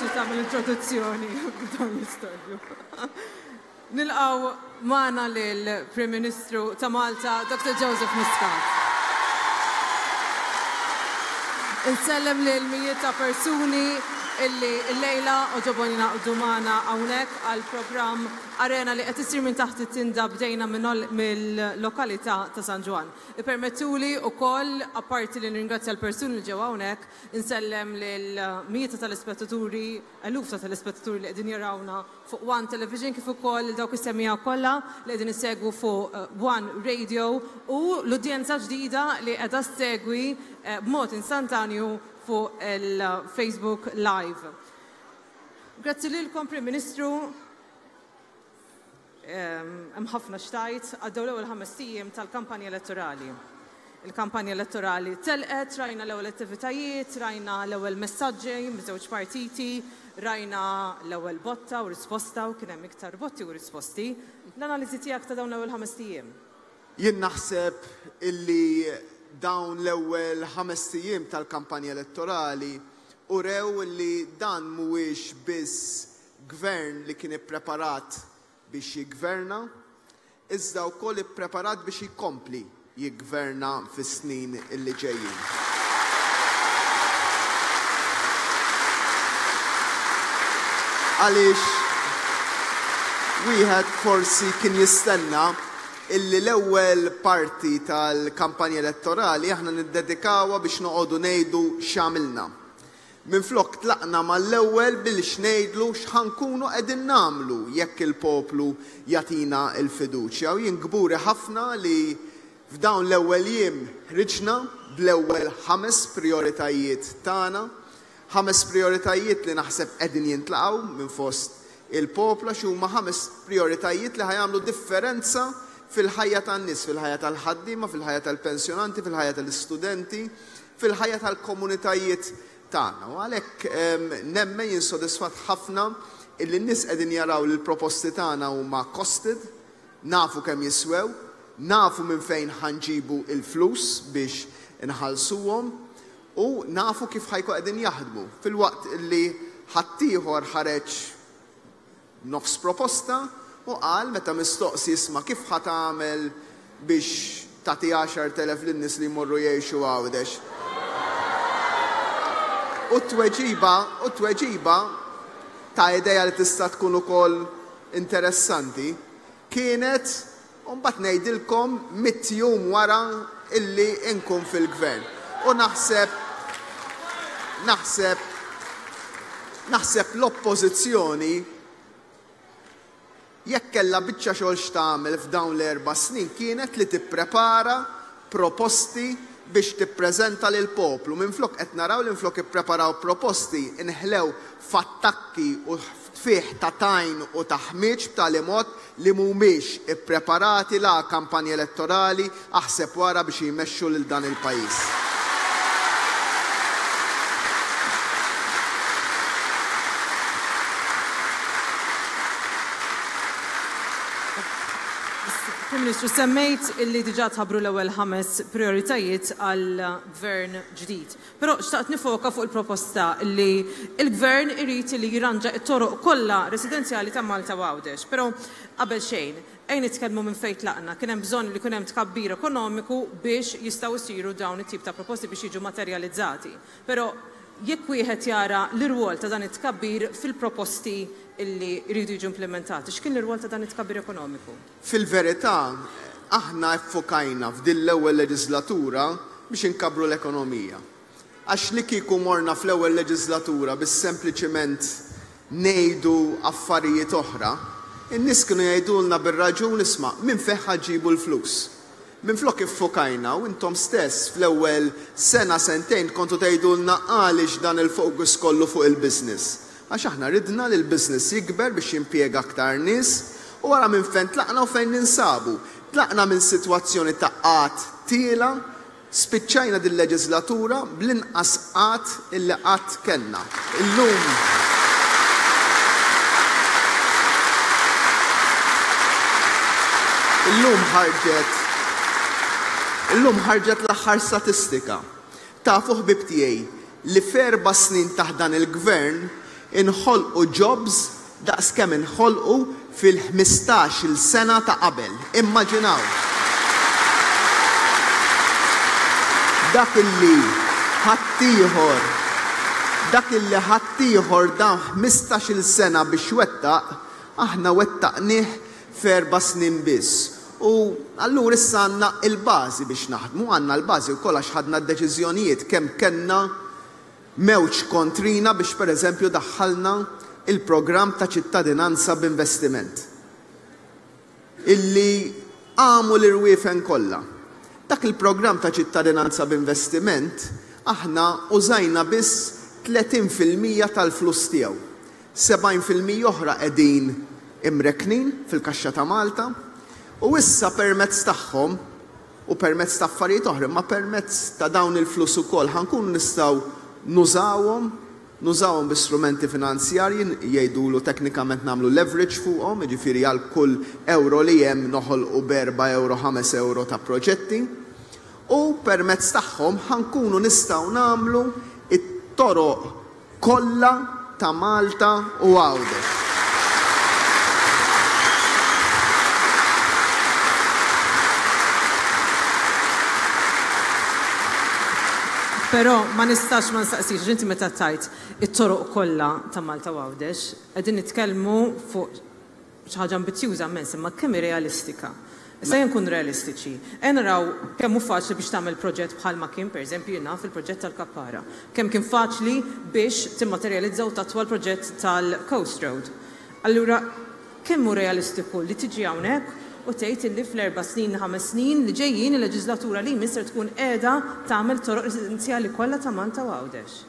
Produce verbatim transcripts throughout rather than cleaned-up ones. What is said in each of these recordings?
Diffiċli tagħmel introduzzjoni b'dan l-istorbju. Nilqgħu magħna lill-Prim Ministru ta' Malta, Doctor Joseph Muscat. Insellem lil mijiet ta' persuni illi llejla għoġobhom jingħaqdu magħna hawnhekk għal programm Arena li qed isir minn taħt it-tinda, bdejna mill-lokalità ta' San Ġwann. Ippermettuli wkoll, apparti li nirringrazzja l-persuni li ġew hawnhekk, insellem lil mijiet ta' telespettaturi, eluf ta' telespettaturi li qegħdin jarawna fuq One Television, kif ukoll dawk is-semmiegħa kollha li qegħdin isegwu fuq One Radio u l-udjenza ġdida li qiegħda ssegwi b'mod instantanju fuq il-Facebook Live. Grazzi lilkom, Prim Ministru. Hemm ħafna x'tgħid. Għaddew l-ewwel ħames ijiem tal-kampanja elettorali. Il-kampanja elettorali telqet, rajna l-ewwel attivitajiet, rajna l-ewwel messaġġi miż-żewġ partiti, rajna l-ewwel botta u risposta, u kien hemm iktar botti u risposti. L-analiżi tiegħek ta' dawn l-ewwel ħames ijiem? Jien naħseb illi dawn l-ewwel ħames ijiem tal-kampanja elettorali urew li dan mhuwiex biss gvern li kien ippreparat biex jiggverna, iżda wkoll ippreparat biex jkompli jiggverna fis-snin illi ġejjin. Għaliex wieħed forsi kien jistenna illi l-ewwel parti tal-kampanja elettorali aħna niddedikawha biex noqogħdu ngħidu x'għamilna. Minflok tlaqna mal-ewwel biex ngħidlu x'ħankunu qegħdin nagħmlu jekk il-poplu jagħtina l-fiduċja. U jien kburi ħafna li f'dawn l-ewwel jiem ħriġna bl-ewwel ħames prioritajiet tagħna, ħames prioritajiet li naħseb qegħdin jintlaqgħu minn fost il-poplu, għax huma ħames prioritajiet li ħajamlu differenza fil-ħajja tan-nies, fil-ħajja tal-ħaddiema, fil-ħajja tal-pensjonanti, fil-ħajja tal-istudenti, fil-ħajja tal-komunitajiet tagħna. U għalhekk nemmen jien sodisfatt ħafna illi n-nies qegħdin jaraw li l-proposti tagħna huma costed, nafu kemm jiswew, nafu minn fejn ħanġibu il-flus biex inħallsuhom u nafu kif ħajku qegħdin jaħdmu. Filwaqt illi ħaddieħor ħareġ nofs proposta u qal meta mistoqsi isma' kif ħa tagħmel biex tagħti għaxar telef lin-nies li jmorru jgħixu Għawdex. U t-tweġiba, u t-tweġiba ta' idea li tista' tkun ukoll interessanti kienet u mbagħad ngħidilkom mitt jum wara illi nkun fil-gvern. U naħseb, naħseb, naħseb l-oppożizzjoni jekk kellha biċċa xogħol x'tagħmel f'dawn l-erba' snin kienet li tipprepara proposti biex tippreżenta lil poplu. Minflok qed naraw li minflok ippreparaw proposti inħlew f'attakki u fih ta' tajn u ta' ħmieġ b'tali mod li mhumiex ippreparati la kampanja elettorali aħseb wara biex jmexxu lil dan il-pajjiż. Prim Ministru, semmejt illi diġà tħabbru l-ewwel ħames prioritajiet għal gvern ġdid. Però xtaqt nifoka fuq il-proposta li il-gvern irid li jirranġa t-toroq kollha residenzjali ta' Malta u Għawdex. Però qabel xejn, ejn nitkellmu minn fejn tlaqna. Kien hemm bżonn li jkun hemm tkabbir ekonomiku biex jistgħu jsiru dawn it-tip ta' proposti biex jiġu materjalizzati. Però jekk wieħed jara l-irwol ta' dan it-tkabbir fil-proposti illi jridu jiġu implementati, x'kien l-irwol ta' dan it-tkabbir ekonomiku? Fil-verità, aħna ffokajna f'din l-ewwel leġislatura biex inkabbru l-ekonomija. Għax li kieku morna fl-ewwel leġislatura biex sempliċiment ngħidu affarijiet oħra, in-nies kienu jgħidulna bir-raġun isma' minn fejn ħa ġġibu l-flus. Minflok iffokajna u intom stess fl-ewwel sena sentejn kontu tgħidulna għaliex dan il-fokus kollu fuq il-business. Għax aħna ridna li l-business jikber biex jimpjega aktar nies u wara minn fejn tlaqna u fejn ninsabu. Tlaqna minn sitwazzjoni ta' qgħad tiela, spiċċajna din leġislatura bl-inqas qgħad illi qatt kellna. Illum Illum ħarġet Illum ħarġet l-aħħar statistika. Tafu ħbib tiegħi li f'erba' snin taħt dan il-gvern inħolqu jobs daqs kemm inħolqu fil-ħmistax-il sena ta' qabel. Immaġinaw. Dak illi ħaddieħor, dak illi ħaddieħor dan ħmistax-il sena biex wettaq, aħna wettaqnih f'erba' snin biss. U allura issa għandna il-bażi biex naħdmu, għandna l-bażi wkoll għax ħadna d-deċiżjonijiet kemm kellna mewġ kontrina biex pereżempju daħħalna il-programm ta' ċittadinanza b'investiment. Illi għamu l-irwiefen kollha. Dak il-programm ta' ċittadinanza b'investiment aħna użajna biss tletin fil-mija tal-flus tiegħu. Sebgħin fil-mija oħra qegħdin imreknin fil-kaxxa ta' Malta u issa permezz tagħhom u permezz ta' affarijiet oħra, ma permezz ta' dawn il-flus ukoll ħankunu nistgħu nużawhom, nużawhom bi strumenti finanzjarji, jgħidulu teknikament nagħmlu leverage fuqhom, jiġifieri għal kull euro li hemm noħolqu b'erba' euro, ħames euro ta' proġetti, u permezz tagħhom ħankunu nistgħu nagħmlu it-toroq kollha ta' Malta u Għawdex. Però ma nistax ma nistaqsix, għax inti meta tajt it-toroq kollha ta' Malta u Għawdex, qegħdin nitkellmu fuq xi ħaġa ambizzjuża immens, imma kemm hi realistika. Issa jien nkun realistiċi. Ejja naraw kemm hu faċli biex tagħmel proġett bħalma kien, pereżempju, jien naf il-proġett tal-Kappara. Kemm kien faċli biex timmaterjalizza u tatwa l-proġett tal-Coast Road. Allura, kemm hu realistiku li tiġi hawnhekk u tgħid illi fl-erba' snin, ħames snin li ġejjin il-leġislatura li jmiss ser tkun qiegħda tagħmel toroq residenzjali kollha ta' Malta u Għawdex.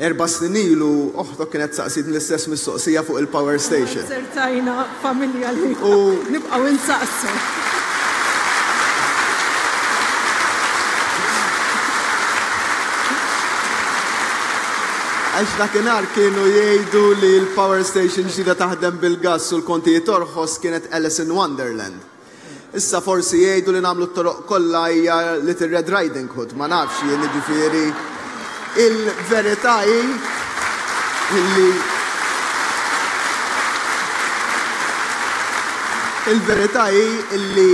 Erba' snin ilu oħtok kienet saqsit l-istess mistoqsija fuq il-power station. Sertajna familja li U nibqgħu insaqsu. Għax dakinhar kienu jgħidu li l-power station ġdida taħdem bil-gass u l-kontijiet orħos kienet Alice in Wonderland. Issa forsi jgħidu li nagħmlu t-toroq kollha hija Little Red Riding Hood, ma nafx jien jiġifieri. Il-verità hi illi il-verità hi illi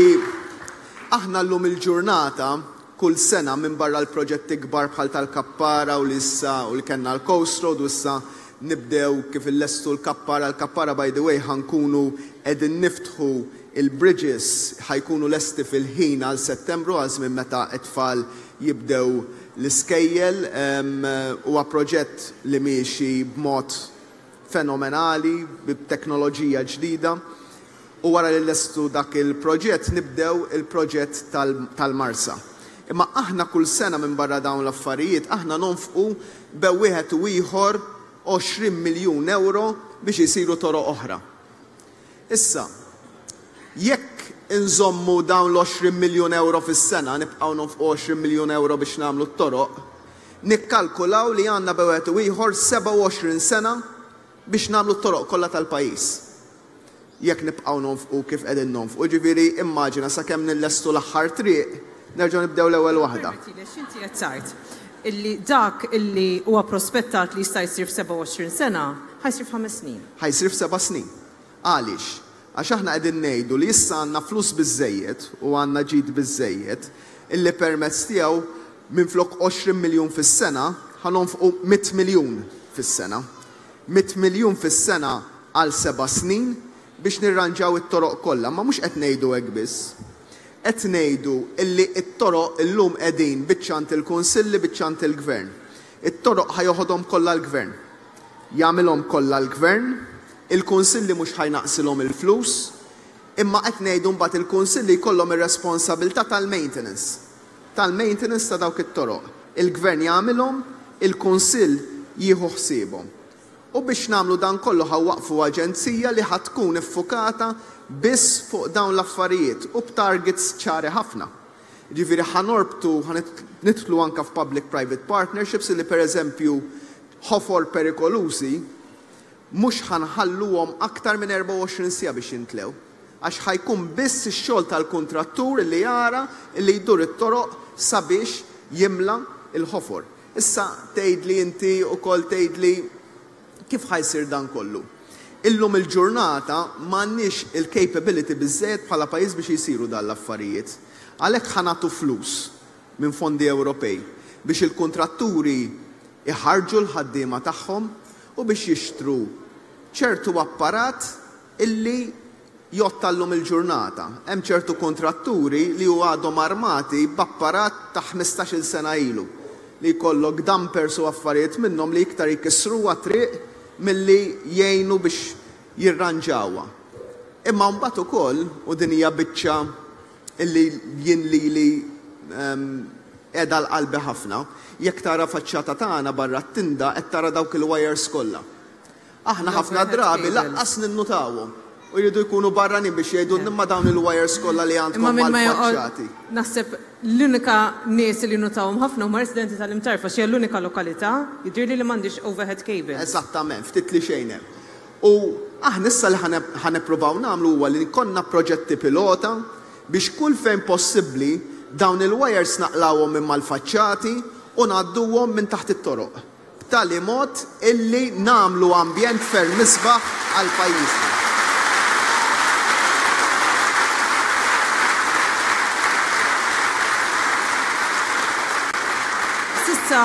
aħna llum il-ġurnata kull sena minn barra l-proġetti kbar bħal tal-Kappara u l-issa u li kellna l-Coast Road u issa nibdew kif illestu l-Kappara. L-Kappara, by the way, ħankunu qegħdin niftħu il-bridges, ħajkunu lesti fil-ħin għal Settembru, għal żmien meta t-tfal jibdew l-iskejjel. Em, huwa proġett li miexi b'mod fenomenali, b'teknoloġija ġdida. U wara li lestu dak il-proġett nibdew il-proġett tal-, tal-Marsa. Imma aħna kull sena minn barra dawn l-affarijiet, aħna nonfqu bew wieħed u ieħor għoxrin miljun euro biex isiru toroq oħra. Issa, jekk inżommu dawn l-għoxrin miljun euro fis-sena, nibqgħu nonfqu għoxrin miljun euro biex nagħmlu t-toroq, nikkalkulaw li għandna bew wieħed u ieħor sebgħa u għoxrin sena biex nagħmlu t-toroq kollha tal-pajjiż. Jekk nibqgħu nonfqu kif qegħdin nonfqu, ġifieri immaġina sakemm nillestu l-aħħar triq, nerġgħu nibdew l-ewwel waħda. Permettili, x'inti qed tgħid illi dak illi huwa prospettat li jista' jsir f'sebgħa u għoxrin sena, ħajsir f'ħames snin. Ħajsir f'seba' snin. Għaliex? Għax aħna qegħdin ngħidu li issa għandna flus biżżejjed u għandna ġid biżżejjed illi permezz tiegħu minflok għoxrin miljun fis-sena ħanonfqu mitt miljun fis-sena. Mitt miljun fis-sena għal seba' snin biex nirranġaw it-toroq kollha, ma mhux qed ngħidu hekk biss. Qed ngħidu illi t-toroq illum qegħdin biċċant il-kunsilli, biċċant il-gvern. It-toroq ħajoħodhom kollha l-gvern. Jagħmilhom kollha l-gvern, il-kunsilli mhux ħajnaqsilhom il-flus, imma qed ngħidu mbagħad il-kunsilli jkollhom ir-responsabilità tal-maintenance. Tal-maintenance ta' dawk it-toroq. Il-gvern jagħmilhom, il-kunsill jieħu ħsiebhom. U biex nagħmlu dan kollu ħawaqfu aġenzija li ħad tkun iffukata biss fuq dawn l-affarijiet u b'targets ċari ħafna. Ġifieri ħanorbtu, ħanitlu anka f'public-private partnerships li pereżempju ħofor perikolużi mhux ħanħalluhom aktar minn erbgħa u għoxrin siegħa biex jintlew. Għax ħajkun biss ix-xogħol tal-kuntrattur li jara li jdur it-toroq sabiex jimla il-ħofor. Issa tgħidli inti wkoll tgħidli Kif ħa jsir dan kollu? Illum il-ġurnata m'għandniex il-capability biżżejjed bħala pajjiż biex jisiru dan l-affarijiet. Għalhekk ħa nagħtu flus minn fondi Ewropej biex il-kontratturi iħarġu l-ħaddiema tagħhom u biex jixtru ċertu apparat illi jgħodd tal-lum il-ġurnata. Hemm ċertu kontratturi li hu għadhom armati b'apparat ta' ħmistax-il sena ilu li jkollok dumpers u affarijiet minnhom li iktar jkissruha triq milli jgħinu biex jirranġawha. Imma mbagħad ukoll, u din hija biċċa illi jien lili, ehm, qiegħda l-qalbi ħafna, jekk tara faċċata tagħna barra t-tinda qed tara dawk il-wires kollha. Aħna ħafna drabi laqqas ninnutawhom. U jridu jkunu barranin biex jgħidu imma dawn il-wires kollha li għandkom Imma minn ma joqgħod mal-faċċati. Naħseb l-unika nies li nutawhom ħafna huma residenti tal-Imtarfa, xi l-unika lokalità jidhirli li m'għandix overhead cable. Eżattament, ftit li xejn hemm. U aħna issa li ħa nippruvaw nagħmlu huwa li konna proġetti pilota biex kull fejn possibbli dawn il-wires naqlawhom minn mal-faċċati u ngħadduhom minn taħt it-toroq. B'tali mod illi nagħmlu ambjent ferm isbaħ għal pajjiżna. Sissa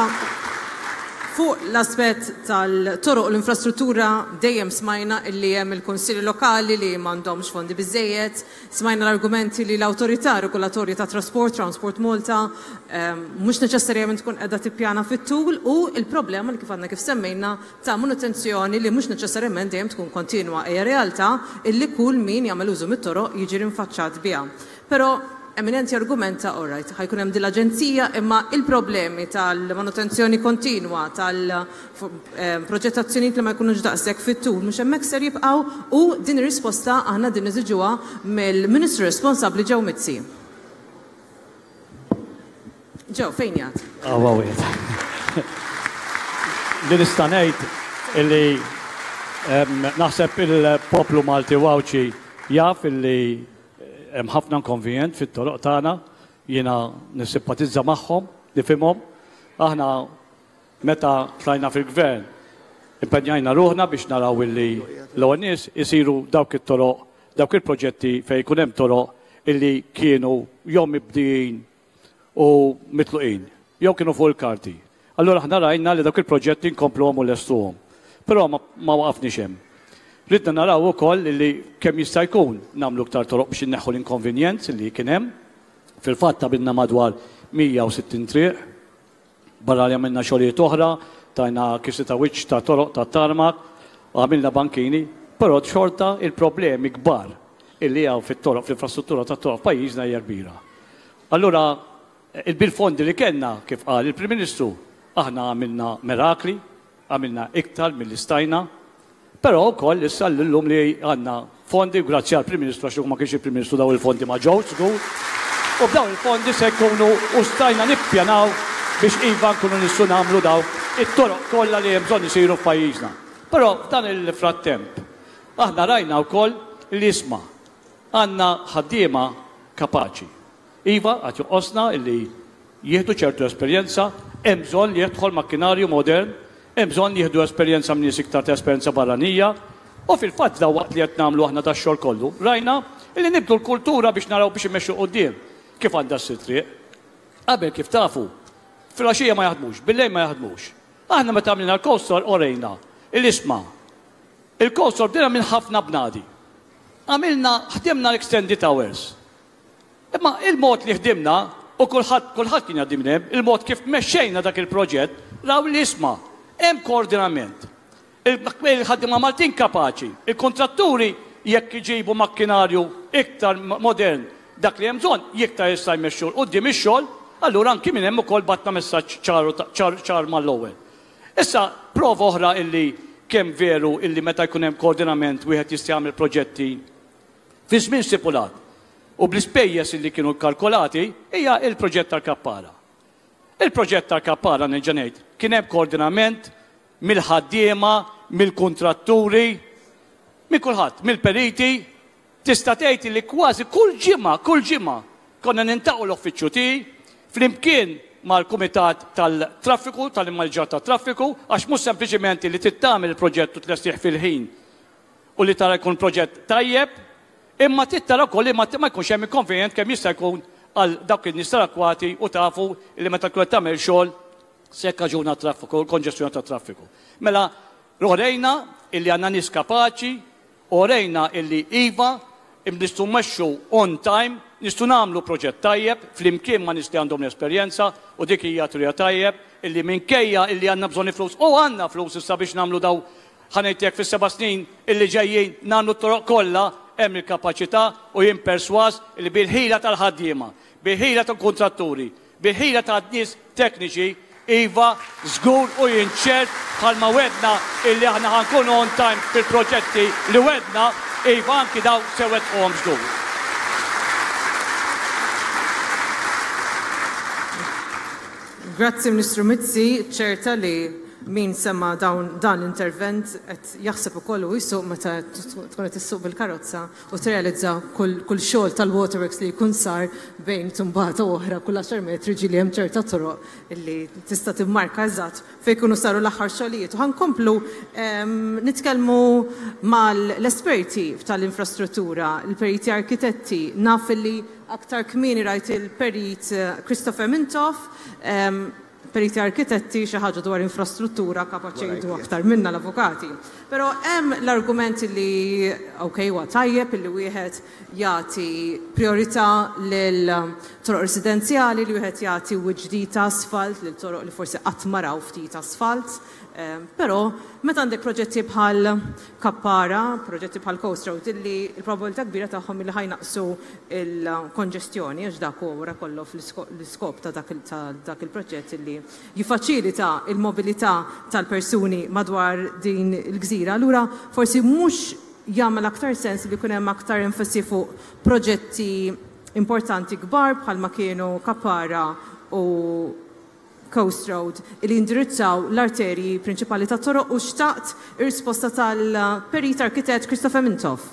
fuq l-aspett tal-toroq u l-infrastruttura dejjem smajna illi hemm il-kunsilli lokali li m'għandhomx fondi biżejjed, smajna l-argumenti li l-awtorità regolatorja ta' trasport, Transport Malta, ehm, mhux neċessarjament tkun qiegħda tippjana fit-tul u il-problema li kif għandna kif semmejna ta' manutenzjoni li mhux neċessarjament dejjem tkun kontinwa. Hija realtà illi kull min jagħmel użu mit-toroq jiġi rinfaċċat biha. Però eminenti argumenta, all right, ħajkun hemm din l-aġenzija, imma il-problemi tal-manutenzjoni kontinwa, tal-proġettazzjonijiet li ma jkunux daqshekk fit-tul, mhux hemmhekk ser jibqgħu, u din ir-risposta aħna din niżiġuha mill-Ministru responsabbli Joe Mizzi. Joe, fejn jgħid? Ah, wow, jgħid. Li nista' ngħid illi, em, naħseb il-poplu Malti u Għawdxi jaf illi hemm ħafna inkonvenjent fit-toroq tagħna, jiena nissimpatizza magħhom, nifhimhom. Aħna meta tlajna fil-gvern impenjajna ruħna biex naraw illi l-ewwel nies isiru dawk it-toroq, dawk il-proġetti fejn jkun hemm toroq illi kienu jew mibdijin u mitluqin, jew kienu fuq il-karti. Allura aħna rajna li dawk il-proġetti nkompluhom u lestuhom. Però ma, ma waqafniex hemm. Ridna naraw ukoll li kemm jista' jkun nagħmlu iktar toroq biex inneħħu l-inkonvenjenz li kien hemm. Fil-fatt għamilna madwar mija u sittin triq, barra li għamilna xogħlijiet oħra, tajna kisi ta' wiċċ ta' toroq ta' tarmak, għamilna bankini, però xorta il-problemi kbar illi hawn fit-toroq, fl-infrastruttura ta' toroq f'pajjiżna hija kbira. Allura, bil-fondi li kellna, kif qal il-Prim Ministru, aħna għamilna mirakli, għamilna iktar milli stajna, però wkoll issa llum li għandna fondi, grazzi għall-Prim Ministru, għax ma kienx il-Prim Ministru daw il-fondi ma ġewx żgur, u b'dawn il-fondi se jkunu u stajna nippjanaw biex iva nkunu nistgħu nagħmlu daw it-toroq kollha li hemm bżonn isiru f'pajjiżna. Però f'dan il-frattemp aħna rajna wkoll li isma' għandna ħaddiema kapaċi. Iva, għad joqosna illi jieħdu ċertu esperjenza, hemm bżonn li jidħol makkinarju modern, hemm bżonn jieħdu esperjenza minn nies iktar ta' esperjenza barranija, u fil-fatt daw waqt li qed nagħmlu aħna dax-xogħol kollu, rajna illi nibdu l-kultura biex naraw biex immexxu quddiem kif għandha ssir triq. Qabel kif tafu, filgħaxija ma jaħdmux, bil-lejl ma jaħdmux. Aħna meta għamilna l-coastal orejna il-isma. Il-coastal bdejna minn ħafna bnadi. Għamilna, ħdimna l-extended hours. Imma il-mod li ħdimna, u kulħadd, kulħadd kien jgħaddi minn hemm, il-mod kif mexxejna dak il-proġett, raw li isma' hemm koordinament. Il-ħaddiema Maltin kapaċi, il-kontratturi jekk iġibu makkinarju iktar modern dak li hemm bżonn, iktar jista' jmexxu 'l quddiem ix-xogħol, allura anki minn hemm ukoll batna messaġġ ċar, ċar mal-ewwel. Issa prova oħra illi kemm veru illi meta jkun hemm koordinament wieħed jista' jagħmel proġetti fi żmien stipulat u bl-ispejjeż illi kienu kkalkolati hija il-proġett tal-Kappara. Il-proġett tal-Kappara nerġa' ngħid kien hemm koordinament mill-ħaddiema, mill-kuntratturi, minn kulħadd, mill-periti. Tista' tgħid li kważi kull ġimgħa, kull ġimgħa konna nintaqgħu l-uffiċċju tiegħi flimkien mal-Kumitat tal-Traffiku, tal-Immaniġġar tat-Traffiku, għax mhux sempliċiment li tittamel il-proġett u tlestih fil-ħin u li tara jkun proġett tajjeb, imma tittara wkoll li ma jkunx hemm inkonvenjent kemm jista' jkun għal dawk in-nies tal-akwati u tafu li meta tkun qed tagħmel xogħol se jikkaġuna traffiku, konġestjoni tat-traffiku. Mela orejna illi għandna nies kapaċi, orejna illi iva nistgħu mmexxu on time, nistgħu nagħmlu proġett tajjeb flimkien ma' nies li għandhom l-esperjenza u dik hija turija tajjeb illi minkejja illi għandna bżonn flus u għandna flus issa biex nagħmlu daw ħanejtek fis-seba' snin illi ġejjin nagħmlu t-toroq kollha hemm il-kapaċità u jien perswas illi bil-ħila tal-ħaddiema, bil-ħila tal-kontratturi, bil-ħila tan-nies tekniċi iva żgur u jien ċert bħalma wedna illi aħna ħankunu on time fil-proġetti li wedna iva anki daw se wettquhom żgur. Grazzi Ministru Mizzi, ċerta li min sema dawn dan l-intervent qed jaħseb ukoll u jsuq meta tkun qed issuq bil-karozza u tirrealizza kull kull xogħol tal-waterworks li jkun sar bejn tumbata u oħra kull għaxar metri ġieli hemm ċerta toroq illi tista' timmarka eżatt fejn jkunu saru l-aħħar xogħlijiet. U ħankomplu nitkellmu mal-esperti tal-infrastruttura, il-periti arkitetti, naf li aktar kmieni rajt il-perit Christopher Mintoff, periti arkitetti xi ħaġa dwar infrastruttura kapaċi jgħidu aktar minna l-avukati. Però hemm l-argument li ok huwa tajjeb illi wieħed jagħti priorità lil toroq residenzjali, li wieħed jagħti ġdid asfalt lil toroq li forsi qatt ma raw ftit asfalt. Però meta għandek proġetti bħal Kappara, proġetti bħal Coast Road, illi l-probabilità kbira tagħhom illi ħajnaqsu il-konġestjoni, għax dak huwa wara kollu l-iskop ta' dak il-proġett illi jiffaċilita il-mobilità tal-persuni madwar din il-gżira. Allura forsi mhux jagħmel aktar sens li jkun hemm aktar enfasi fuq proġetti importanti kbar bħalma kienu Kappara u Coast Road li indirizzaw l-arterji prinċipali ta' toroq u xtaqt ir-risposta tal-perit arkitett Christopher Mintoff.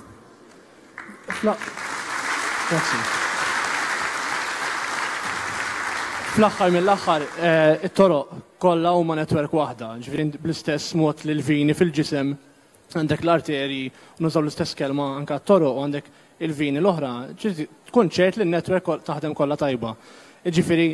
Fl-aħħar mill-aħħar, it-toroq kollha huma netwerk waħda, ġifieri bl-istess mod li l-vini fil-ġisem għandek l-arterji u nużaw l-istess kelma anke t-toroq u għandek il-vini l-oħra, tkun ċert li n-netwerk taħdem kollha tajba. Ġifieri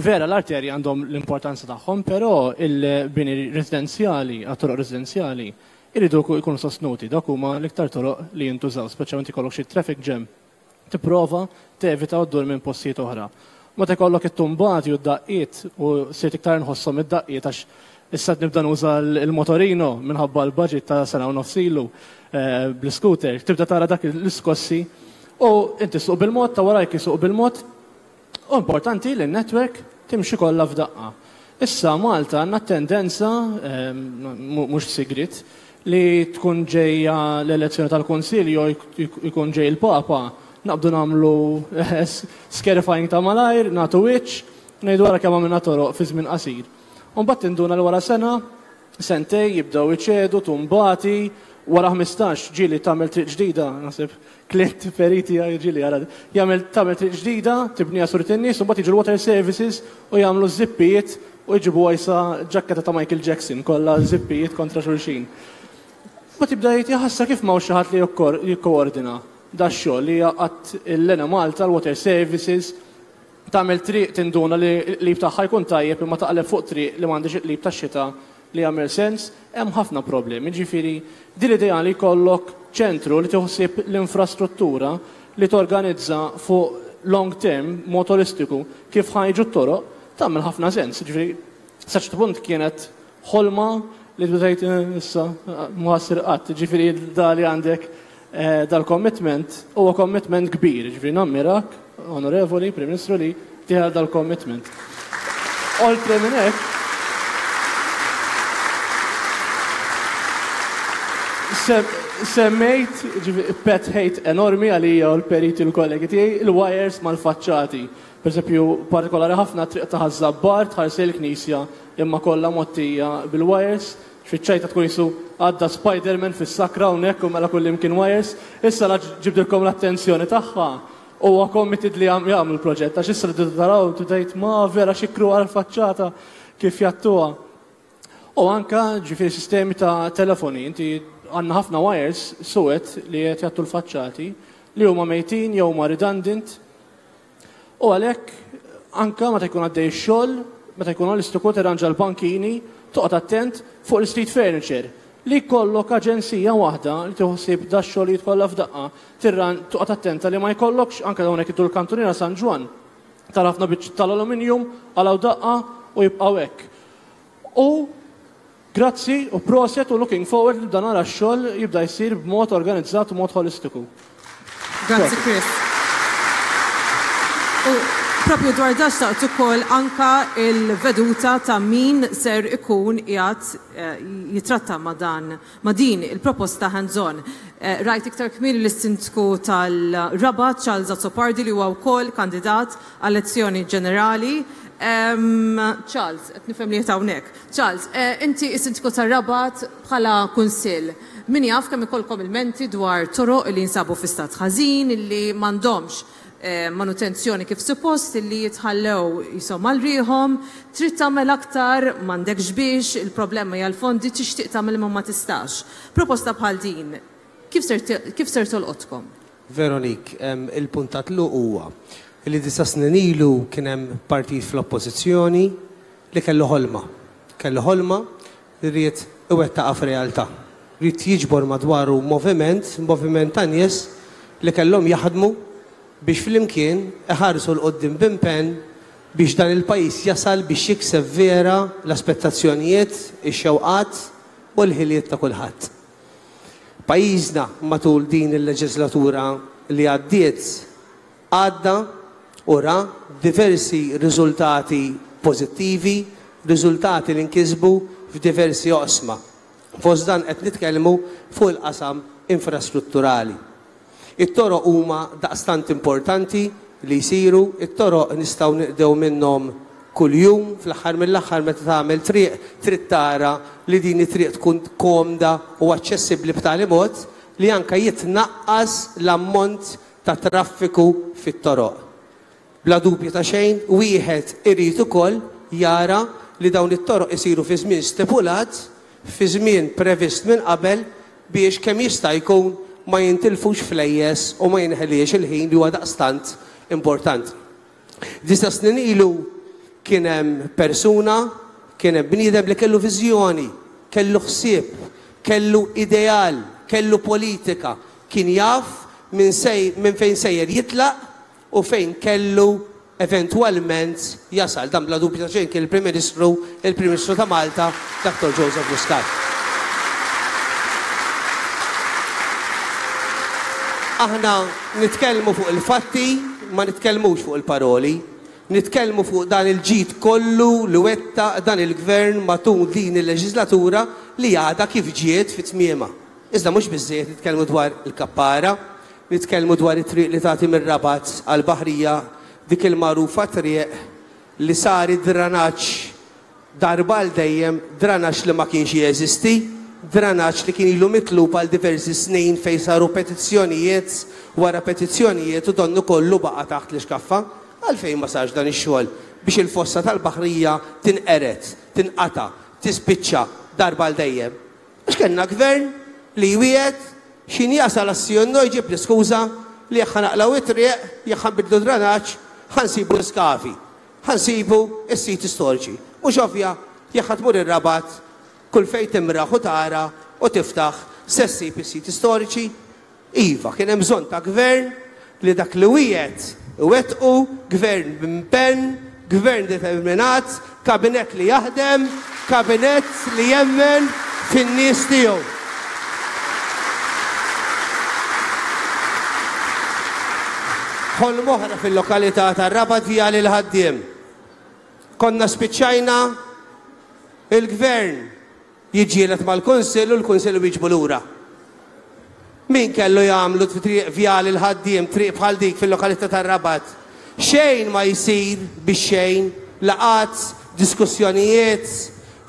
vera l-arterji għandhom l-importanza tagħhom, però il-bini residenzjali, għat-toroq residenzjali, iridu jkunu sostnuti, dak huma l-iktar toroq li jintużaw, speċjalment ikollok xi traffic jam, tipprova tevita u ddur minn postijiet oħra. Meta jkollok it-tumbati u d-daqqiet u sirt iktar nħosshom id-daqqiet għax issa nibda nuża l-motorino minħabba l-budget ta' sena u nofsilu bl-scooter, tibda tara dak l-iskossi u inti suq bil-mod, ta' warajk isuq bil-mod. U importanti li n-network timxi kollha f'daqqa. Issa Malta għandna tendenza, mhux sigrit, li tkun ġejja l-elezzjoni tal-Kunsill jew jkun ġej il-Papa, naqbdu nagħmlu scarifying ta' malajr, nagħtu wiċċ, ngħidu wara kemm għamilna toroq fi żmien qasir. U mbagħad tinduna l wara sena, sentej jibdew iċedu, tumbati, wara ħmistax ġieli tagħmel triq ġdida, naħseb Clint Periti ġieli jara, jagħmel tagħmel triq ġdida, tibniha surit in-nies, u mbagħad jiġu l-water services u jagħmlu żippijiet u jġibu għajsa ġakketa ta' Michael Jackson, kollha żippijiet kontra xulxin. Ma tibda jgħid jaħassa kif m'hawnx xi ħadd li jikkoordina da x-xogħol li jaqgħad l-Enemalta, l-water services, tagħmel triq tinduna li l-qlib tagħha jkun tajjeb imma taqleb fuq triq li m'għandix il-qlib tax-xita li jagħmel sens, hemm ħafna problemi. Ġifieri din l-idea li jkollok ċentru li tiħsib l-infrastruttura li torganizza fuq long term motoristiku kif ħajġu t-toroq tagħmel ħafna sens. Ġifieri sa ċertu punt kienet ħolma li tbdejt issa ma ssir qatt. Ġifieri da li għandek dal-commitment huwa commitment kbir. Ġifieri nammirak, onorevoli Prim Ministru, li tieħed dal-commitment. Oltre minn hekk, semmejt pet hate enormi għalija u l-periti u l-kollegi tiegħi, il-wires mal-faċċati. Per eżempju, partikolari ħafna triq ta' Ħaż-Żabbar tħares il-knisja imma kollha mottija bil-wires, fiċ-ċajta tkun jisu għadda Spider-Man fis-sakra hawnhekk u mela kullimkien wires. Issa la ġibdilkom l-attenzjoni tagħha. huwa committed li jagħmlu l-proġett, għax issa li taraw tgħid ma vera xikru għal faċċata kif jattuha. U anka ġifieri sistemi ta' telefoni, inti għandna ħafna wires suwed li qed jattu l-faċċati li huma mejtin jew huma redundant. U għalhekk anka meta jkun għaddej ix-xogħol, meta jkun holistiku tirranġa l-bankini, toqgħod attent fuq l-street furniture. Li jkollok aġenzija waħda li tieħu da xogħlijiet kollha f'daqqa, tirran toqgħod attenta li ma jkollokx anke dawn hekk iddur l-kantuniera San Ġwann. Tara ħafna biċċ tal-aluminium għalaw daqqa u jibqgħu hekk. U grazzi u proset u looking forward li dan nara x-xogħol jibda jsir b'mod organizzat u mod holistiku. Grazzi Chris. U propju dwar dan xtaqt ukoll anka il-veduta ta' min ser ikun qiegħed jitratta ma' dan ma' din il-proposta hands-on. Rajt iktar kmieni lis-sindku tal-Rabat Charles Azzopardi li huwa wkoll kandidat għall-elezzjoni ġenerali. Charles, qed nifhem li qed hawnhekk. Charles, inti s-sindku tar-Rabat bħala kunsill. Min jaf kemm ikollkom il-menti dwar toroq li jinsabu fi stat ħażin, li m'għandhomx manutenzjoni kif suppost, li jitħallew jisom għal-riħom, trid tagħmel aktar, m'għandekx biex, il-problema hija l-fondi, tixtieq tagħmel imma ma tistax. Proposta bħal din, kif ser kif ser tolqotkom? Veronique, il-punt ta' tluq huwa li disa' snin ilu kien hemm partit fl-oppożizzjoni li kellu ħolma. Kellu ħolma li ried iwettaqha f'realtà. Ried jiġbor madwaru moviment, moviment ta' nies li kellhom jaħdmu biex flimkien iħarsu 'l quddiem b'impenn biex dan il-pajjiż jasal biex jikseb vera l-aspettazzjonijiet, ix-xewqat u l-ħiliet ta' kulħadd. Pajjiżna matul din il-leġislatura li għaddiet għadda u ra diversi riżultati pożittivi, riżultati li nkisbu f'diversi oqsma. Fost dan qed nitkellmu fuq il-qasam infrastrutturali. It-toroq huma daqstant importanti li jsiru, it-toroq nistgħu niqdew minnhom kuljum, fl-aħħar mill-aħħar meta tagħmel triq trid tara li din it-triq tkun komda u aċċessibbli b'tali mod li anke jitnaqqas l-ammont ta' traffiku fit-toroq. Bla dubju ta' xejn, wieħed irid ukoll jara li dawn it-toroq isiru fi żmien stipulat, fi żmien previst minn qabel biex kemm jista' jkun ma jintilfux flejjes u ma jinħeliex il-ħin li huwa daqstant importanti. Disa' snin ilu kien hemm persuna, kien hemm bniedem li kellu viżjoni, kellu ħsieb, kellu ideal, kellu politika, kien jaf minn sej, minn fejn sejjer jitlaq u fejn kellu eventwalment jasal. Dan bla dubju ta' xejn kien il-Prim Ministru, il-Prim Ministru ta' Malta, Doctor Joseph Muscat. Aħna nitkellmu fuq il-fatti, ma nitkellmux fuq il-paroli. Nitkellmu fuq dan il-ġid kollu li wettaq dan il-gvern matul din il-leġislatura li għadha kif ġiet fi tmiemha. Iżda mhux biżżejjed nitkellmu dwar il-kappara, nitkellmu dwar it-triq li tagħti mir-Rabat għall-Baħrija, dik il-magħrufa triq li sar id-dranaġġ darba għal dejjem, dranaġġ li ma kienx jeżisti, dranaġġ li kien ilu mitlub għal diversi snin fejn saru petizzjonijiet wara petizzjonijiet u donnu kollu baqa' taħt l-ixkaffa. Għalfejn ma sarx dan ix-xogħol biex il-fossa tal-Baħrija tinqered, tinqata', tispiċċa darba għal dejjem. Għax kellna gvern li jwiegħed x'in jasal għas-Sjonno jġib l-iskuża li jekk ħanaqlaw it-triq, jekk ħanbidlu dranaġġ, ħansibu l-iskavi, ħansibu s-siti storiċi. Mhux ovvja, jekk ħatmur ir-Rabat, kull fejn timraħ u tara u tiftaħ se ssib is-siti storiċi. Iva, kien hemm bżonn ta' gvern li dak li wiegħed iwettqu, gvern b'impenn, gvern determinat, kabinett li jaħdem, kabinett li jemmen fin-nies tiegħu. Ħolm oħra fil-lokalità tar-Rabat Vjali l-Ħaddiem. Konna spiċċajna il-gvern jiġġieled mal-Kunsill u l-Kunsill wieġbu lura. Min kellu jagħmlu triq Vjali l-Ħaddiem, triq bħal dik fil-lokalità tar-Rabat? Xejn ma jsir biex xejn, laqat, diskussjonijiet,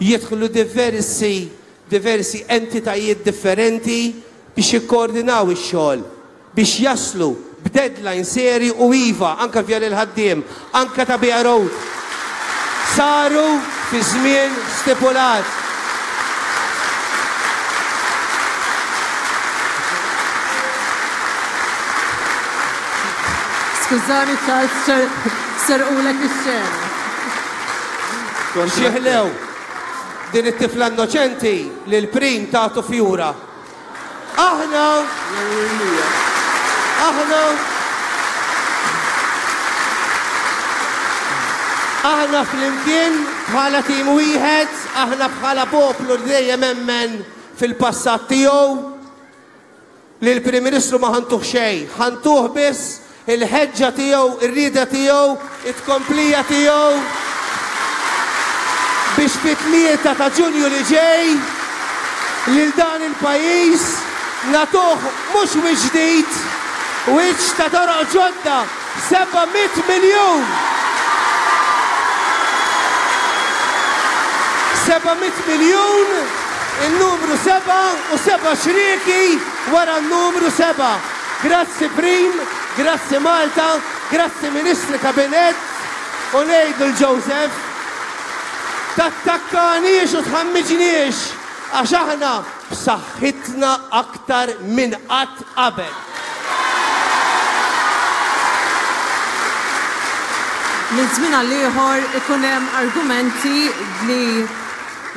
jidħlu diversi, diversi entitajiet differenti biex jikkoordinaw ix-xogħol, biex jaslu b'deadline seri u iva, anka Vjal il-Ħaddiem, anka ta' Bija Road. Saru fi żmien stipulat. Skużani Charles, serqulek ix-xena. Xi ħlew din it-tifla innoċenti li l-prim tagħtu fjura. Aħna aħna aħna flimkien bħala tim wieħed, aħna bħala poplu li dejjem emmen fil-passat tiegħu li l-Prim Ministru ma ħantuh xejn, ħantuh biss il-ħeġġa tiegħu, ir-rieda tiegħu, it-tkomplija tiegħu biex fit-tlieta ta' Ġunju li ġej lil dan il-pajjiż nagħtuh mhux wiċċ ġdid, wiċċ ta' toroq ġodda, seba' mitt miljun. seba' mitt miljun, il-numru seba' u seba' xrieki wara n-numru seba'. Grazzi Prim, grazzi Malta, grazzi Ministri Kabinett u ngħidu l-Joseph tattakkaniex u tħammiġniex għax aħna b'saħħitna aktar minn qatt qabel. Minn żmien għal ieħor ikun hemm argumenti li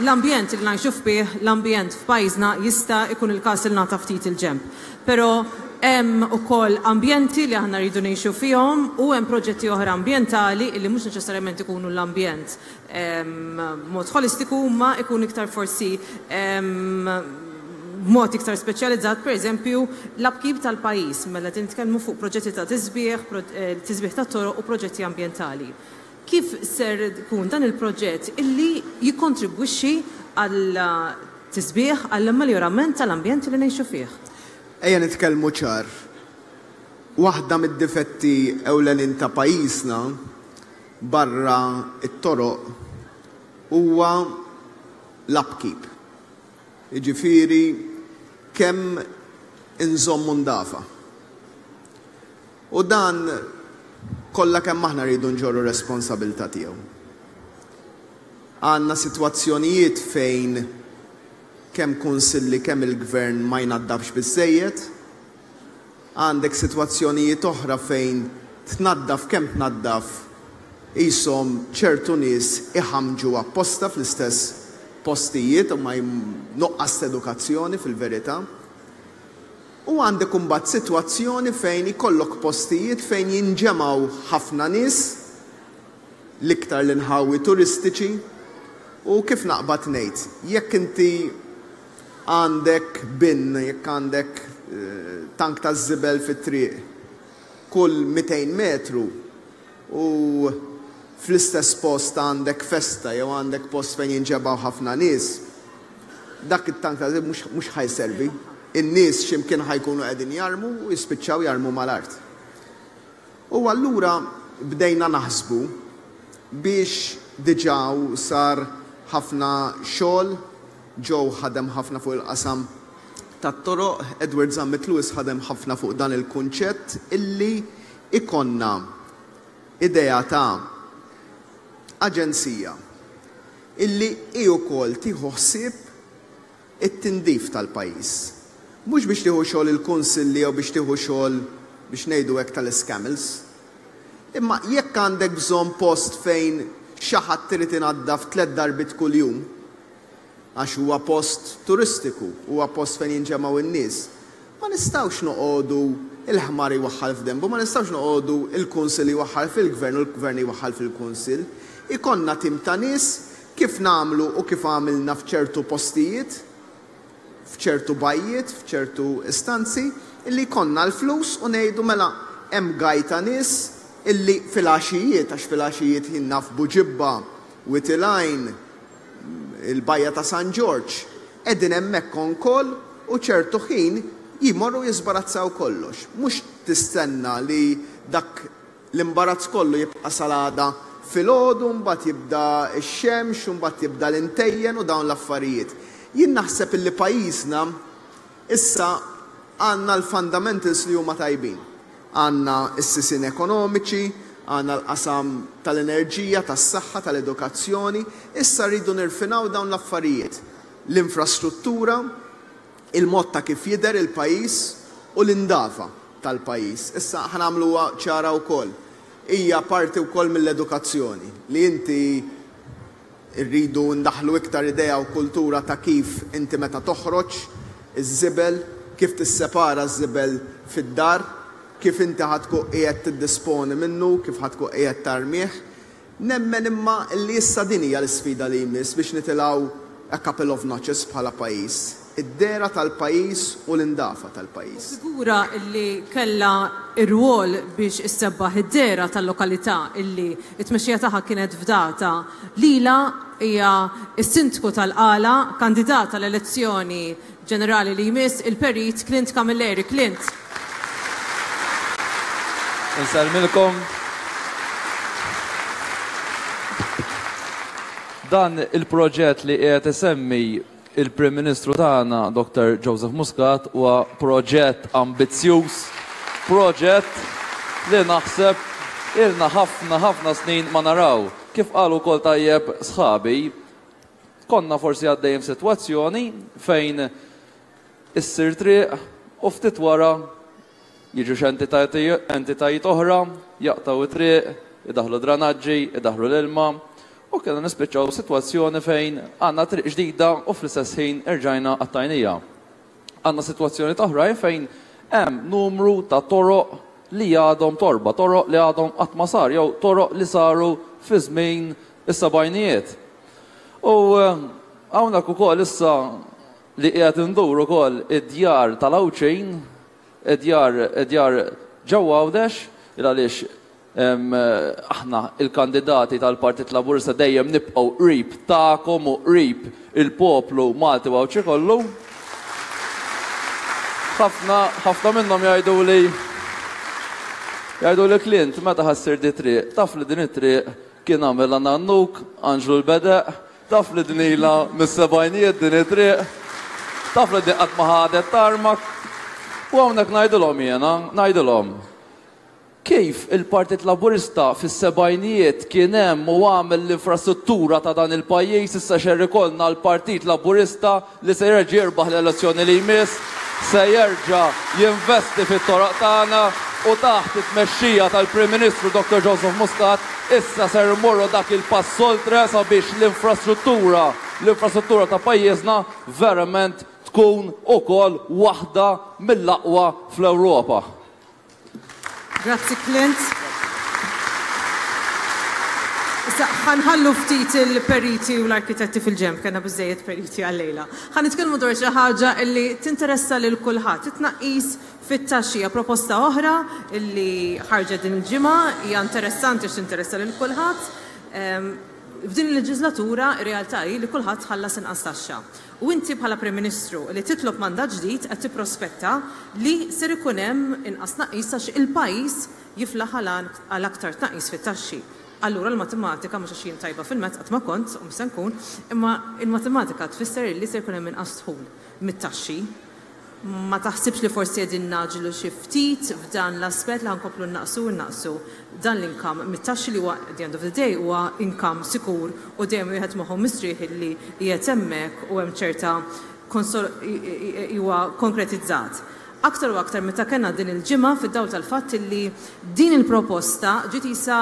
l-ambjent li ngħixu fih, l-ambjent f'pajjiżna jista' jkun il-każ li nagħta ftit il-ġenb. Però hemm ukoll ambjenti li aħna rridu ngħixu fihom u hemm proġetti oħra ambjentali li mhux neċessarjament ikunu l-ambjent b'mod holistiku, ma ikun iktar forsi b'mod iktar speċjalizzat, pereżempju l-upkeep tal-pajjiż, mela qed nitkellmu fuq proġetti ta' tisbieħ, tisbieħ ta' toroq u proġetti ambjentali. Kif ser ikun dan il-proġett illi jikkontribwixxi għal tisbieħ, għall ameljorament tal-ambjent li ngħixu fih? Ejja nitkellmu ċar. Waħda mid-difetti ewlenin ta' pajjiżna barra it-toroq huwa l-upkeep. Jiġifieri kemm inżommu ndafa. U dan kollha kemm aħna rridu nġorru responsabilità tiegħu. Għandna sitwazzjonijiet fejn kemm kunsilli kemm il-gvern ma jnaddafx biżżejjed, għandek sitwazzjonijiet oħra fejn tnaddaf kemm tnaddaf qishom ċertu nies iħamġu apposta fl-istess postijiet u ma nuqqas edukazzjoni fil-verità. U għandek imbagħad sitwazzjoni fejn ikollok postijiet fejn jinġemgħu ħafna nies, l-iktar l-inħawi turistiċi, u kif naqbad ngħid, jekk inti għandek bin, jekk għandek tank ta' żibel fit-triq kull mitejn metru u fl-istess post għandek festa jew għandek post fejn jinġebgħu ħafna nies, dak it-tank ta' żibel mhux ħajservi. In-nies x'imkien ħajkunu qegħdin jarmu u jispiċċaw jarmu mal-art. U allura bdejna naħsbu biex diġà sar ħafna xogħol, Joe ħadem ħafna fuq il-qasam tat-toroq, Edward Zammit Lewis ħadem ħafna fuq dan il-kunċett illi ikonna idea ta' aġenzija illi hi wkoll tieħu ħsieb it-tindif tal-pajjiż. Mhux biex tieħu xogħol il-kunsilli jew biex tieħu xogħol biex ngħidu hekk tal-iscamels. Imma jekk għandek bżonn post fejn xi ħadd irid inaddaf tliet darbiet kuljum, għax huwa post turistiku, huwa post fejn jinġemgħu n-nies, ma nistgħux noqogħdu il-ħmar jwaħħal f'dembu, ma nistgħux noqogħdu il-kunsill jwaħħal fil-gvern u l-gvern jwaħħal fil-kunsill. Ikonna tim ta' nies kif nagħmlu u kif għamilna f'ċertu postijiet, f'ċertu bajjiet, f'ċertu istanzi, illi jkollna l-flus u ngħidu mela hemm gajta nies illi fil-għaxijiet, għax fil-għaxijiet jien naf Buġibba, Witilajn, il-bajja ta' San Ġorġ, qegħdin hemmhekk on call u ċertu ħin jimorru jiżbarazzaw kollox. Mhux tistenna li dak l-imbarazz kollu jibqa' salada filgħodu, mbagħad jibda x-xemx, u mbagħad jibda l-intejjen u dawn l-affarijiet. Jien naħseb illi pajjiżna issa għandna l-fundamentals li huma tajbin. Għandna s-sisien ekonomiċi, għandna l-qasam tal-enerġija, tas-saħħa, tal-edukazzjoni. Issa rridu nirfinaw dawn l-affarijiet. L-infrastruttura, il-mod ta' kif jidher il-pajjiż u l-indafa tal-pajjiż. Issa ħa nagħmluha ċara wkoll. Hija parti wkoll mill-edukazzjoni li inti rridu ndaħlu iktar idea u kultura ta' kif inti meta toħroġ iż-żibel, kif tissepara ż-żibel fid-dar, kif inti ħa tkun qiegħed tiddisponi minnu, kif ħa tkun qiegħed tarmih. Nemmen imma li issa din hija l-isfida li jmiss biex nitilgħu a couple of notches bħala pajjiż. Id-dehra tal-pajjiż u l-indafa tal-pajjiż. Figura illi kella ir-rwol biex issebbaħ id-dehra tal-lokalità illi it-tmexxija tagħha kienet fdata lila hija s-sindku tal-Qala, kandidata l-elezzjoni ġenerali li jmiss, il-Perit Clint Camilleri. Clint. Insellmilkom. Dan il-proġett li qiegħed isemmi il-Prim Ministru tagħna Doctor Joseph Muscat huwa proġett ambizzjuż, proġett li naħseb ilna ħafna ħafna snin ma naraw. Kif qalu wkoll tajjeb sħabi, konna forsi għaddejjem sitwazzjoni fejn issir triq u ftit wara jiġu xi entitajiet oħra, jaqtaw it-triq, idaħlu dranaġġi, idaħlu l-ilma, u kellna nispiċċaw sitwazzjoni fejn għandna triq ġdida u fl-istess ħin irġajna għat-tajnija. Għandna sitwazzjoni oħrajn fejn hemm numru ta' toroq li għadhom torba, toroq li għadhom qatt ma sar, jew toroq li saru fi żmien is-sebgħinijiet. U hawnhekk ukoll issa li qiegħed indur ukoll id-djar tal-Għawdxin, id-djar id-djar ġewwa Għawdex, il għaliex aħna il-kandidati tal-Partit Laburista dejjem nibqgħu qrib tagħkom u qrib il-poplu Malti u Għawdxi kollu. Ħafna, ħafna minnhom jgħidu li jgħidu li Clint, meta ħassir di triq, taf li din it-triq kien għamilha nannuk, Anġlu l-Bedeq, taf li din ilha mis-sebgħinijiet din it-triq, taf li din qatt ma ħadet tarmak. U hawnhekk ngħidilhom jiena, ngħidilhom kif il-Partit Laburista fis-sebgħinijiet kien hemm u għamel l-infrastruttura ta' dan il-pajjiż, issa xerri kollna l-Partit Laburista li se jerġa' jirbaħ l-elezzjoni li jmiss, se jerġa' jinvesti fit-toroq tagħna u taħt it-tmexxija tal-Prim Ministru Doctor Joseph Muscat issa ser immorru dak il-pass oltre sabiex l-infrastruttura, l-infrastruttura ta' pajjiżna verament tkun ukoll waħda mill-aqwa fl-Ewropa. Grazzi Clint. Issa ħanħallu ftit il-periti u l-arkitetti fil-ġemp, kellna biżejjed periti għal-lejla. Ħa nitkellmu dwar xi ħaġa illi tinteressa lil kulħadd, it-tnaqqis fit-taxxija, proposta oħra illi ħarġet din il-ġimgħa, hija interessanti għax tinteressa lil kulħadd. F'din il-leġislatura ir-realtà hi li kulħadd ħallas inqas taxxa. U inti bħala Prim Ministru li titlob mandat ġdid qed tipprospetta li ser ikun hemm inqas tnaqqis għax il-pajjiż jiflaħ għal aktar tnaqqis fit-taxxi. Allura l-matematika, mhux għax jien tajba fil-mezz qatt ma kont u mhux se nkun, imma il-matematika tfisser li ser ikun hemm inqas dħul mit-taxxi. Ma taħsibx li forsi qegħdin naġlu xi ftit f'dan l-aspett li ħankomplu naqsu u naqsu dan l-income mit-taxxi li huwa at the end of the day huwa income sikur u dejjem wieħed moħħu mistrieħ li qiegħed hemmhekk u hemm ċerta huwa konkretizzat. Aktar u aktar meta kellna din il-ġimgħa fid-dawl tal-fatt li din il-proposta ġiet isa